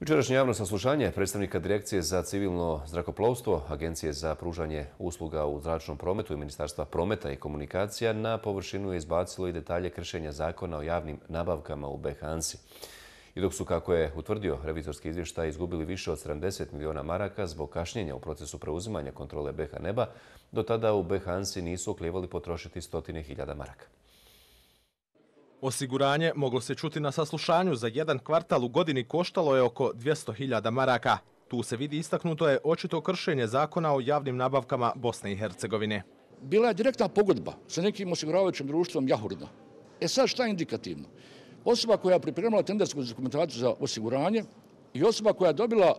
Jučerašnje javno saslušanje predstavnika Direkcije za civilno zrakoplovstvo, Agencije za pružanje usluga u zračnom prometu i Ministarstva prometa i komunikacija na površinu je izbacilo i detalje kršenja zakona o javnim nabavkama u BiH ANSI. I dok su, kako je utvrdio revizorski izvještaj, izgubili više od 70 miliona maraka zbog kašnjenja u procesu preuzimanja kontrole BiH neba, do tada u BiH ANSI nisu oklijevali potrošiti stotine hiljada maraka. Osiguranje, moglo se čuti na saslušanju, za jedan kvartal u godini koštalo je oko 200.000 maraka. Tu se vidi, istaknuto je očito kršenje zakona o javnim nabavkama Bosne i Hercegovine. Bila je direktna pogodba sa nekim osiguravajućim društvom Jahurda. Sad šta je indikativno? Osoba koja je pripremila tendersku dokumentaciju za osiguranje i osoba koja je dobila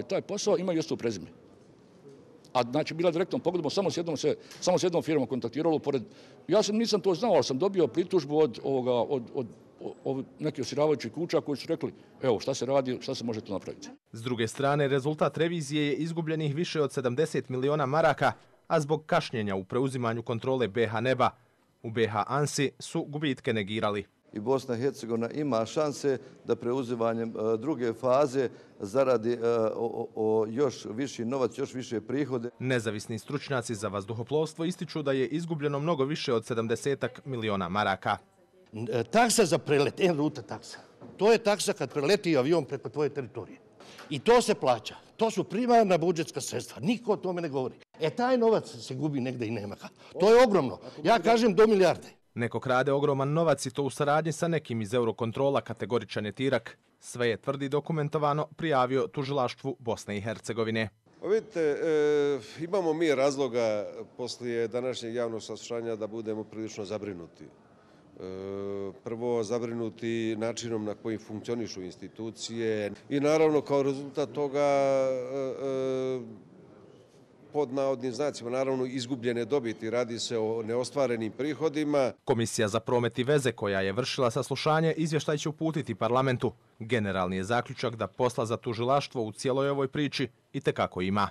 taj posao imaju isto prezime. A znači bila direktnom pogodbom, samo s jednom firmom kontaktiralo. Ja nisam to znao, ali sam dobio pritužbu od nekih osiguravajućih kuća koji su rekli evo šta se radi, šta se može tu napraviti. S druge strane, rezultat revizije je izgubljenih više od 70 miliona maraka, a zbog kašnjenja u preuzimanju kontrole BiH neba. U BiH ANSI su gubitke negirali. I Bosna i Hercegovina ima šanse da preuzimanjem druge faze zaradi još viši novac, još više prihode. Nezavisni stručnjaci za vazduhoplovstvo ističu da je izgubljeno mnogo više od 70 miliona maraka. Taksa za prelet, en-ruta taksa. To je taksa kad preleti avion preko tvoje teritorije. I to se plaća. To su primarna budžetska sredstva. Niko o tome ne govori. Taj novac se gubi negde i nema ga. To je ogromno. Ja kažem do milijarde. Neko krade ogroman novac i to u saradnji sa nekim iz Eurokontrola, kategoričan je Tirak. Sve je, tvrdi, dokumentovano prijavio tužilaštvu Bosne i Hercegovine. Vidite, imamo mi razloga poslije današnjeg javnog saslušanja da budemo prilično zabrinuti. Prvo, zabrinuti načinom na koji funkcionišu institucije i naravno kao rezultat toga pod navodnim znacima, naravno, izgubljene dobiti. Radi se o neostvarenim prihodima. Komisija za promet i veze, koja je vršila saslušanje, izvještaj će uputiti parlamentu. Generalni je zaključak da posla za tužilaštvo u cijeloj ovoj priči itekako ima.